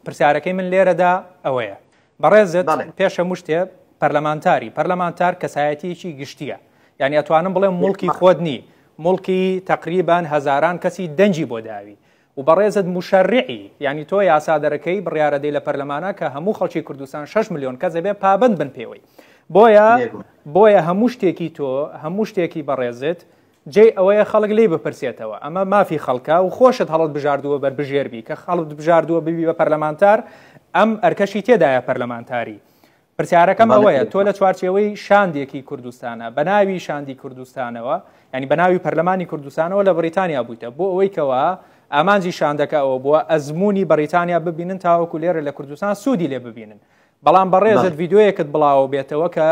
پرسیارەکەی من لێرەدا ئەوەیە بەڕێزت پێش هەموو شتێ پەرلەمانتاری پەرلەمانتار کەسایەتیەکی گشتیە یعنی ئەتوانم بڵێم موڵکی خۆت نی موڵکی تقریبان هەزاران کەسی دەنگی بۆ داوی و بەڕێزت مشەرعی یعنی تۆ یاسا دەرەکەی بڕیارەدەی لە پەرلەمانە کە هەموو خەڵکی کوردستان 6 میلیۆن کەس دەبێ پابند بن پێوەی بۆیە بۆیە هەموو شتێکی تۆ هەموو شتێکی بەڕێزت جێی ئەوەیە خەڵک لێی بپرسێتەوە، ئەمە مافی خەڵکە و خۆشت هەڵت بژاردووە بەربژێر بی، کە خەڵکت بژاردووە ببی بە پەرلەمانتار، ئەم ئەرکەشی تێدایە پەرلەمانتاری. پرسیارەکەم ئەوەیە تۆ لە چوارچێوەی شاندێکی کوردستانە بە ناوی شاندی کوردستانەوە ینی بە ناوی پەرلەمانی کوردستانەوە لە بەریتانیا بوویتە بۆ ئەوەی کەوا ئامانجی شاندەکە ئەوە بووە ئەزمموی بەریتانیا ببینن تاوەکو لێرە لە کوردستان سوودی لێ ببینن بەڵام بەڕێزت ڤیدیۆیەکت بڵاوە بێتەوە کە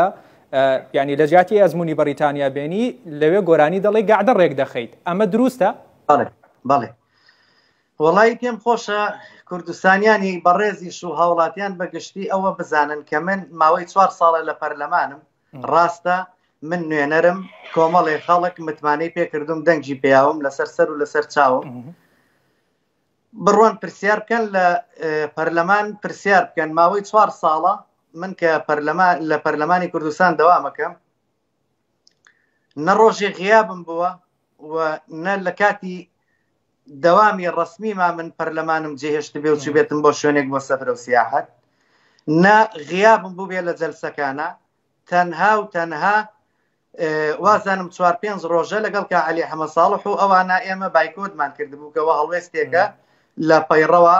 ینی لە جیاتی ئەزمموی بەریتانیا بێنی لەوێ گۆرانی دەڵێ گەعدە ڕێک دەخەیت ئەمە دروستە؟ بەڵێ وەڵی پێم خۆشە کوردستانیانی بەڕێزیش و هاوڵاتیان بەگشتی ئەوە بزانن کە من ماوەی چوار ساڵە لە پەرلەمانم ڕاستە من نوێنەرم کۆمەڵێ خەڵک متمانەی پێکردم دەنگی پیاوم لەسەر سەر و لەسەر چاوم بڕۆن پرسیار بکەن لە پەرلەمان پرسیار بکەن ماوەی چوار ساڵە من کە پەرلەمان لە پەرلەمانی کوردستان دەوامەکەم نە ڕۆژێ غیابم بووە و نە لە کاتی دەوامی ڕسمی ما من پەرلەمانم جێهێشت بێ و چوبێتم بۆ شوێنێک بۆ سەفرە و سیاحەت نە غیابم بوو بێ لە جەلسەکانە تەنها و تەنها وازانم چوار پێنج ڕۆژە لەگەڵ کا عەلی حەمە ساڵح و ئەوانە ئێمە بایکۆتمان کردبوو کەەوە هەڵوێستێکە لە پەیڕەوە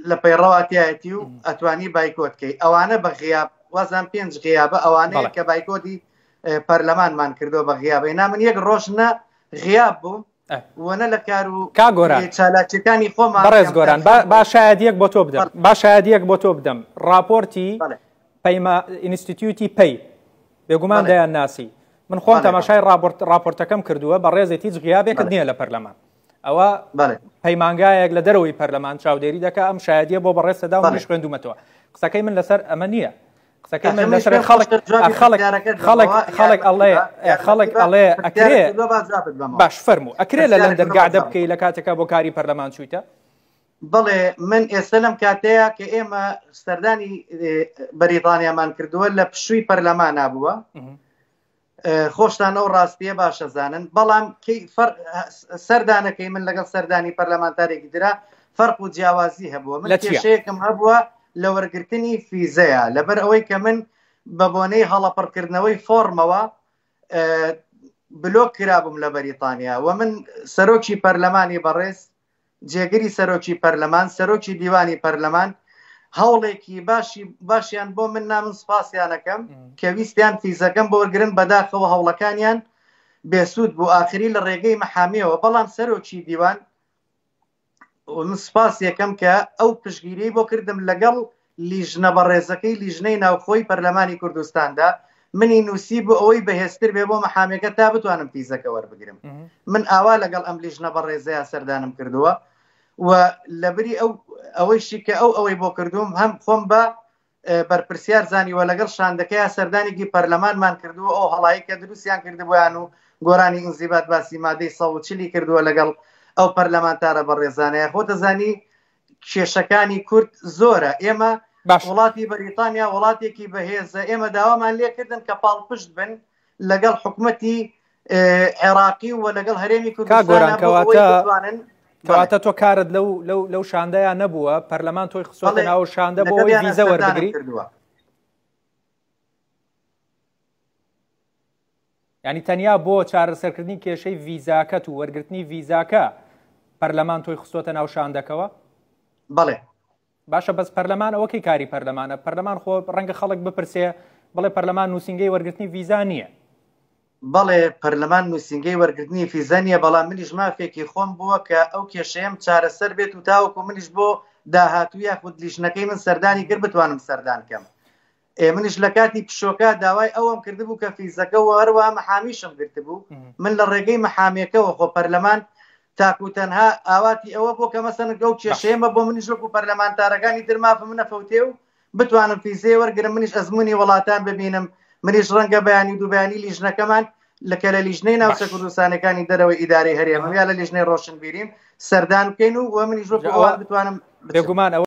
لە پەیڕەوە تایەتی و ئەتوانی بایکۆتکەی ئەوانە بە غیاب وازان پێنج غیابە ئەوانەیە کە بایکۆتی پەرلەمانمان کردو بە غیابەی نا من یەک ڕۆژ نە غیاب بووم وەنە لە کار و کا گۆران چالاکیەکانی خۆمان بەڕێز گۆران با شایەدیەک بۆ تۆ بدەم با شایەدیەک بۆ تۆ بدەم راپۆرتی پەیما ئینستیتیوتی پەی بێگومان دەیان ناسی من خۆم تەماشای راپۆرتەکەم کردووە بە ڕێزێت هیچ غیابێکت نییە لە پەرلەمان ئەوە پەیمانگایەک لە دەرەوەی پەرلەمان چاودێری دەکە ئەم شایەدیە بۆ بەڕێزتەدا و منیش خوێندومەتەوە قسەکەی من لەسەر ئەمە نییە قسەکەی من لەسەر خەڵک خەڵک خەڵک خەڵک ئەڵێ خەڵک ئەڵێ ئەکرێ باش فەرموو ئەکرێ لە لەندەن گەعدە بکەی لە کاتێکا بۆ کاری پەرلەمان چوویتە؟ بەڵێ من ئێستا لەم کاتەیە کە ئێمە سەردانی بەریتانیامان کردووە لە پشووی پەرلەمانا بووە خۆشتان ئەو ڕاستیە باشە زانن بەڵام سەردانەکەی من لەگەڵ سەردانی پەرلەمانتارێکی درا فەرق و جیاوازی هەبووە من کێشەیەکم هەبووە لە وەرگرتنی فیزەیە لەبەر ئەوەی کە من بە بۆنەی هەڵەپڕکردنەوەی فۆرمەوە بلۆک کرابووم لە بەریتانیا و من سەرۆکی پەرلەمانی بەڕێز جێگری سەرۆکی پەرلەمان، سەرۆکی دیوانی پەرلەمان هەوڵێکی باشی باشیان بۆ من نا من سپاسیانەکەم کە ویستیان فیزەکەم بۆ وەرگرن بەداخەوە هەوڵەکانیان بێسوود بوو ئاخری لە ڕێگەی مەحامیەوە بەڵام سەرۆکی دیوان من سپاس یەکەم کە ئەو پشگیری بۆ کردم لەگەڵ لیژنە بەڕێزەکەی لیژنەی ناوخۆی پەرلەمانی کوردستاندا منی نووسی بۆ ئەوەی بەهێزتر بێ بۆ مەحامێکە تا بتوانم فیزەکە وەربگرم من ئاوا لەگەڵ ئەم لیژنە بەڕێزەیە سەردانم کردووە و لەبری ئەو ئەوەیشی کە ئەو ئەوەی بۆ کردوم هەم خۆم بە بەرپرسیار زانیوە لەگەڵ شاندەکەیا سەردانێکی پەرلەمانمان کردووە ئەو هەڵایی کە دروستیان کردبوویان و گۆرانی ئینزیبات باسی مادەی 140 کردووە لەگەڵ ئەو پەرلەمانتارە بەڕێزانەیە خۆ دەزانی کێشەکانی کورد زۆرە ئێمە باش وڵاتی بەریتانیا وڵاتێکی بەهێزە ئێمە داوامان لێکردن کە پاڵپشت بن لەگەڵ حکومەتی عێراقی و لەگەڵ هەرێمی کا کوردستان گۆران بۆ ئەوەی کەواتە بتوانن بەڵێ کەواتە تۆ کارت لەو لەو لەو شاندەیا نەبووە پەرلەمان تۆی خستۆتە بەڵێ ناو شاندە بۆ ئەوەی لەگەڵیانە ڤیزە سەردانم وەربگری کردووە یعنی تەنیا بۆ چارەسەرکردنی کێشەی ڤیزاکەت و وەرگرتنی ڤیزاکە پەرلەمان تۆی خستۆتە ناو شاندەکەوە؟ بەڵێ. باشە بەس پەرلەمان ئەوە کەی کاری پەرلەمانە؟ پەرلەمان خۆ ڕەنگە خەڵک بپرسێ بڵێ پەرلەمان نووسینگەی وەرگرتنی ڤیزا نییە. بەڵێ پەرلەمان نووسینگەی وەرگرتنی فیزا نییە بەڵام منیش مافێکی خۆم بووە کە ئەو کێشەیەم چارەسەر بێت و تاوەکو منیش بۆ داهاتوو یاخود لیژنەکەی من سەردانی کرد بتوانم سەردان کەم. ئێ منیش لە کاتی پشۆکە داوای ئەوەم کردبوو کە فیزەکە و هەروەها مەحامیشم گرتبوو من لە ڕێگەی مەحامیەکەوە خۆ پەرلەمان تاکو تەنها ئاواتی ئەوە بۆ کە مەسەن گەو کێشەیەمە بۆ منیش وەکو پەرلەمانتارەکانی تر مافم نەفەوتێ و بتوانم فیزەی وەرگرم منیش ئەزمموی وڵاتان ببینم منیش ڕەنگە بەیانی و دووبیانی لیژنەکەمان لە کە لە لیژنەی ناوچە کوردستانەکانی دەرەوەی ئیدارەی هەرێمم یا لە لیژنەی ڕۆشنبیریم سەردان بکەین و وە منیش وەکو ئەوان بتوانم بێگومان ئەوە.